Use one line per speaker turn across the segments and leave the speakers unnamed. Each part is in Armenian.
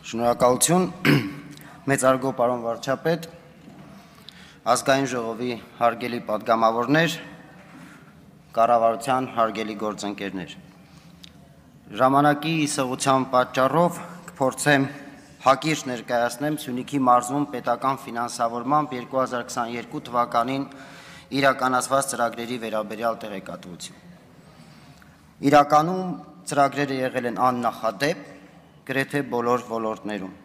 Շնորհակալություն, մեծարգո պարոն վարչապետ, ազգային ժողովի հարգելի պատգամավորներ, կառավարության հարգելի գործընկերներ։ Ժամանակի իսեղության պատճառով կփորձեմ հակիրճ ներկայացնեմ Սյունիքի մարզում պետական ֆինանսավորմամբ 2022 թվականին իրականացված ծրագրերի վերաբերյալ տեղեկատվություն։ Իրականում ծրագրերը եղել են աննախադեպ, գրեթե բոլոր ոլորտներում։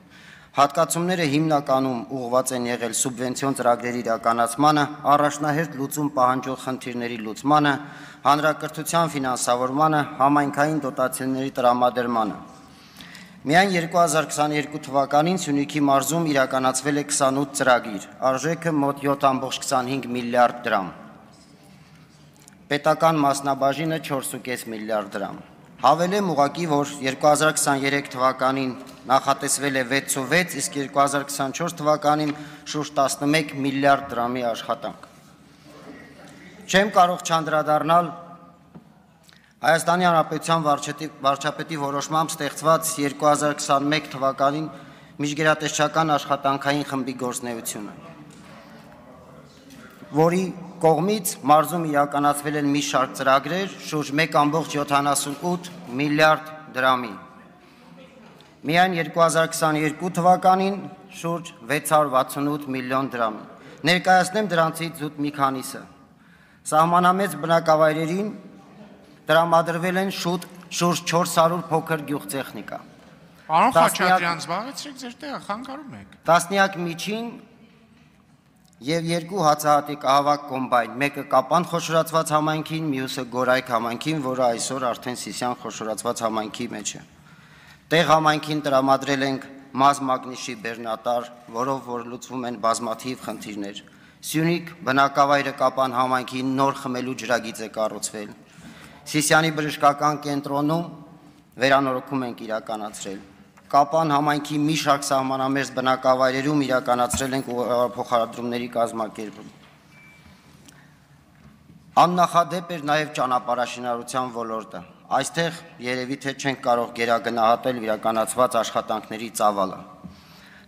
Հատկացումները հիմնականում ուղղված են եղել սուբվենցիոն ծրագրերի իրականացմանը, առաջնահերթ լուծում պահանջող խնդիրների լուծմանը, հանրակրթության ֆինանսավորմանը, համայնքային դոտացիաների տրամադրմանը։ Միայն 2022 թվականին Սյունիքի մարզում իրականացվել է 28 ծրագիր, արժեքը մոտ 7.25 միլիարդ դրամ։ Պետական մասնաբաժինը 4.5 միլիարդ դրամ։ Հավելեմ ուղղակի, որ 2023 թվականին նախատեսվել է 6.6, իսկ 2024 թվականին շուրջ 11 միլիարդ դրամի աշխատանք։ Չեմ կարող չանդրադառնալ Հայաստանի Հանրապետության վարչապետի որոշմամբ ստեղծված 2021 թվականին միջգերատեսչական աշխատանքային խմբի գործունեությունը, որի կողմից մարզում իրականացվել են մի շարք ծրագրեր շուրջ 1.78 միլիարդ դրամի։ Միայն 2022 թվականին շուրջ 668 միլիոն դրամի։ Ներկայացնեմ դրանցից զուտ մի քանիսը։ Սահմանամեծ բնակավայրերին տրամադրվել են շուրջ 400 փոքր գյուղտեխնիկա։
Պարոն Խաչատրյան, զբաղեցրեք ձեր տեղը, խանգարում եք։
Տասնյակ միջին և 2 հացահատիկահավաք կոմբայն, մեկը Կապան խոշորացված համայնքին, մյուսը Գորայք համայնքին, որը այսօր արդեն Սիսիան խոշորացված համայնքի մեջ է։ Տեղ համայնքին տրամադրել ենք մազ մագնիշի բեռնատար, որով որ լուծվում են բազմաթիվ խնդիրներ։ Սյունիք բնակավայրը Կապան համայնքին նոր խմելու ջրագիծ է կառուցվել։ Սիսիանի բժշկական կենտրոնում վերանորոգում ենք իրականացրել։ Կապան համայնքի մի շարք սահմանամերձ բնակավայրերում իրականացրել ենք փոխադրումների կազմակերպում։ Աննախադեպ էր նաև ճանապարհաշինարարության ոլորտը։ Այստեղ երևի թե չենք կարող գերագնահատել իրականացված աշխատանքների ծավալը։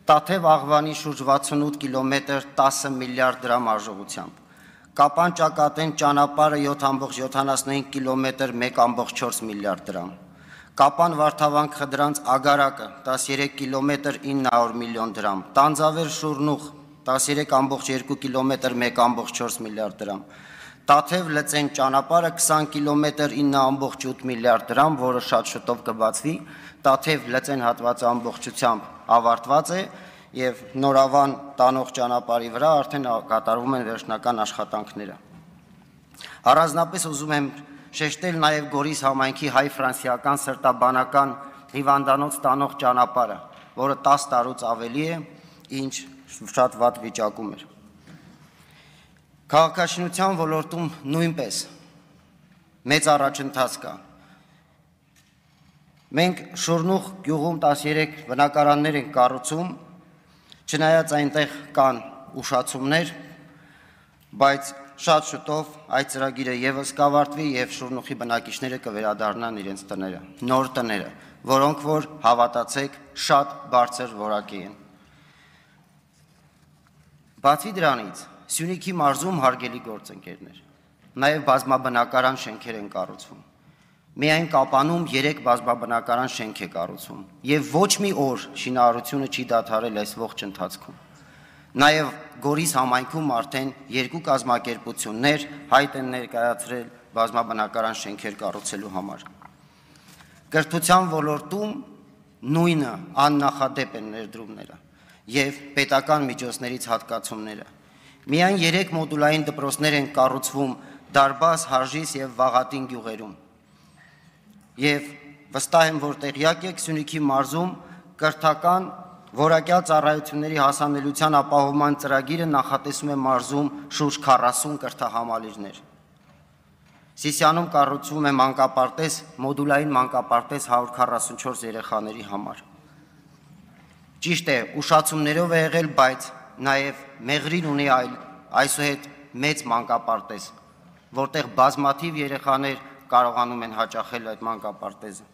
Տաթև Աղվանի շուրջ 68 կիլոմետր 10 միլիարդ դրամ արժողությամբ։ Կապան Ճակատեն ճանապարհը 7.75 կիլոմետր 1.4 միլիարդ դրամ։ Կապան Վարդավանք Խդրանց Ագարակը 13 կիլոմետր 900 միլիոն դրամ, Տանձավեր Շուրնուխ 13.2 կիլոմետր 1.4 միլիարդ դրամ, Տաթև Լծեն ճանապարհը 20 կիլոմետր 9.8 միլիարդ դրամ, որը շատ շուտով կբացվի, Տաթև Լծեն հատվածը ամբողջությամբ ավարտված է եւ Նորավան տանող ճանապարհի վրա արդեն կատարվում են վերջնական աշխատանքները։ Առանձնապես ուզում եմ շեշտել նաև Գորիս համայնքի հայ-ֆրանսիական սրտաբանական հիվանդանոց տանող ճանապարհը, որը 10 տարուց ավելի է, ինչ շատ վատ վիճակում էր։ Քաղաքաշինության ոլորտում նույնպես մեծ առաջընթաց կա։ Մենք Շուրնուխ գյուղում 13 բնակարաններ ենք կառուցում, չնայած այնտեղ կան ուշացումներ, բայց շատ շուտով այդ ծրագիրը եւս կավարտվի եւ Շուրնուխի բնակիչները կվերադառնան իրենց տները, նոր տները, որոնք որ հավատացեք շատ բարձր որակի են։ Բացի դրանից, Սյունիքի մարզում հարգելի գործընկերներ, նաեւ բազմաբնակարան շենքեր են կառուցվում։ Միայն Կապանում 3 բազմաբնակարան շենք է կառուցվում եւ ոչ մի օր շինարարությունը չի դադարել այս ողջ ընթացքում։ Նաև Գորիս համայնքում արդեն 2 կազմակերպություններ հայտ են ներկայացրել բազմաբնակարան շենքեր կառուցելու համար։ Կրթության ոլորտում նույնը աննախադեպ են ներդրումները եւ պետական միջոցներից հատկացումները։ Միայն 3 մոդուլային դպրոցներ են կառուցվում Դարբաս, Հարժիս եւ Վաղատին գյուղերում։ Եվ վստահ եմ, որ տեղյակ եք, Սյունիքի մարզում կրթական Որակյալ ծառայությունների հասանելիության ապահովման ծրագիրը նախատեսում է մարզում շուրջ 40 կրթահամալիրներ։ Սիսիանում կառուցվում է մանկապարտեզ, մոդուլային մանկապարտեզ 144 երեխաների համար։ Ճիշտ է, ուշացումներով է եղել, բայց նաև Մեղրին ունի այսուհետ մեծ մանկապարտեզ, որտեղ բազմաթիվ երեխաներ կարողանում են հաճախել այդ մանկապարտեզը։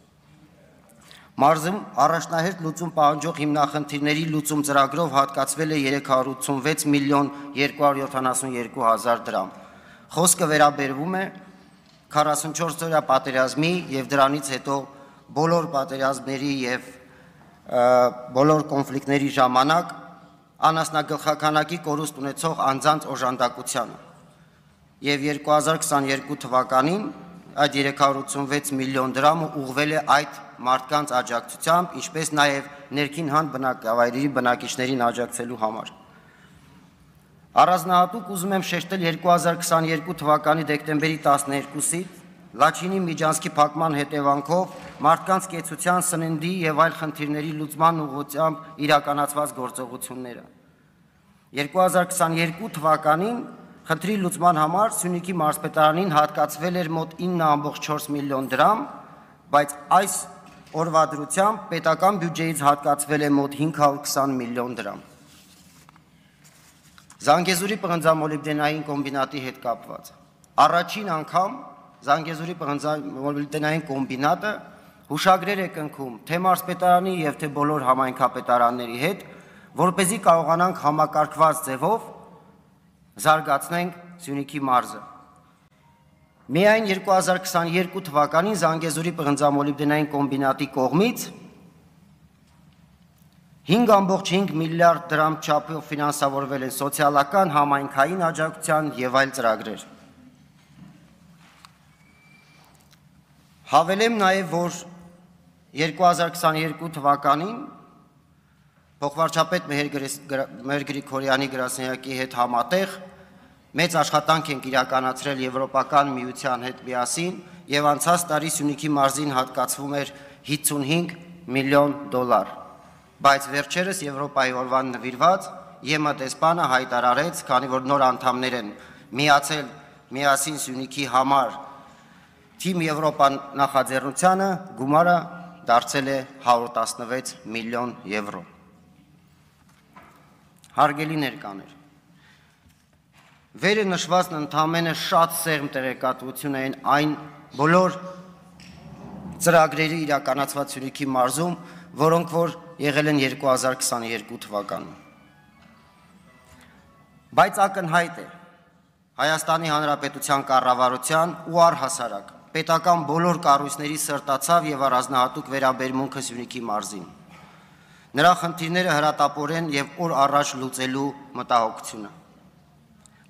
Մարզում առաջնահերթ լուծում պահանջող հիմնախնդիրների լուծում ծրագրով հատկացվել է 386 միլիոն 272 հազար դրամ։ Խոսքը վերաբերվում է 44-օրյա պատերազմի եւ դրանից հետո բոլոր պատերազմների եւ բոլոր կոնֆլիկտների ժամանակ անասնագլխականակի կորուստ ունեցող անձանց օժանդակությանը։ Եվ 2022 թվականին այդ 386 միլիոն դրամը ուղղվել է այդ մարդկանց աջակցությամբ, ինչպես նաև ներքին հան բնակավայրերի բնակիչներին աջակցելու համար։ Առանձնահատուկ ուզում եմ շեշտել 2022 թվականի դեկտեմբերի 12-ից Լաչինի միջանցքի փակման հետևանքով մարդկանց կեցության, սննդի եւ այլ խնդիրների լուծման ուղղությամբ իրականացված գործողությունները։ 2022 թվականին խնդրի լուծման համար Սյունիքի մարզպետարանին հատկացվել էր մոտ 9.4 միլիոն դրամ, բայց այս օրվա դրությամբ պետական բյուջեից հատկացվել է մոտ 520 միլիոն դրամ։ Զանգեզուրի պղնձամոլիբդենային կոմբինատի հետ կապված։ Առաջին անգամ Զանգեզուրի պղնձամոլիբդենային կոմբինատը հուշագրեր է կնքում թե մարզպետարանի եւ թե բոլոր համայնքապետարանների հետ, որպեսզի կարողանանք համակարգված ձևով զարգացնենք Սյունիքի մարզը։ Միայն 2022 թվականին Զանգեզուրի պղնձամոլիբդենային կոմբինատի կողմից 5.5 միլիարդ դրամ չափով ֆինանսավորվել են սոցիալական, համայնքային աջակցության եւ այլ ծրագրեր։ Հավելեմ նաև, որ 2022 թվականին փոխվարչապետ Մհեր Գրիգորյանի գրասենյակի հետ համատեղ մեծ աշխատանք ենք իրականացրել Եվրոպական միության հետ միասին եւ անցած տարի Սյունիքի մարզին հատկացվում էր 55 միլիոն դոլար, բայց վերջերս Եվրոպայի օրվան նվիրված ԵՄ դեսպանը հայտարարեց, քանի որ նոր անդամներ են միացել միասին Սյունիքի համար Թիմ Եվրոպա նախաձեռնությանը գումարը դարձել է 116 միլիոն եվրո։ Հարգելի ներկաներ, վերը նշվածն ընդամենը շատ սերմ տեղեկատվություն են այն բոլոր ծրագրերի իրականացված Սյունիքի մարզում, որոնք որ եղել են 2022 թվականում։ Բայց ակնհայտ է Հայաստանի Հանրապետության կառավարության ու առհասարակ պետական բոլոր կառույցների սրտացավ եւ առանձնահատուկ վերաբերմունքը Սյունիքի մարզին։ Նրա խնդիրները հրատապորեն եւ օր առաջ լուծելու մտահոգությունը։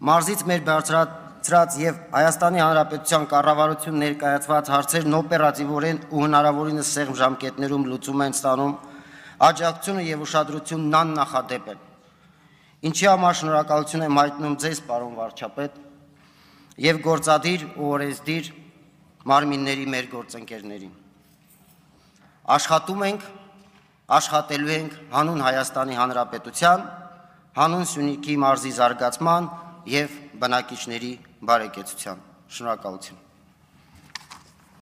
Մարզից մեր բարձրացրած եւ Հայաստանի Հանրապետության կառավարություն ներկայացված հարցերն օպերատիվորեն ու հնարավորինս սեղմ ժամկետներում լուծում են ստանում, աջակցությունը եւ ուշադրությունն աննախադեպ են։ Ինչի համար շնորհակալություն եմ հայտնում ձեզ, պարոն վարչապետ, եւ գործադիր ու օրենսդիր մարմինների մեր գործընկերներին։ Աշխատում ենք, աշխատելու ենք հանուն Հայաստանի Հանրապետության, հանուն Սյունիքի մարզի զարգացման եւ բնակիչների բարեկեցության։ Շնորհակալություն։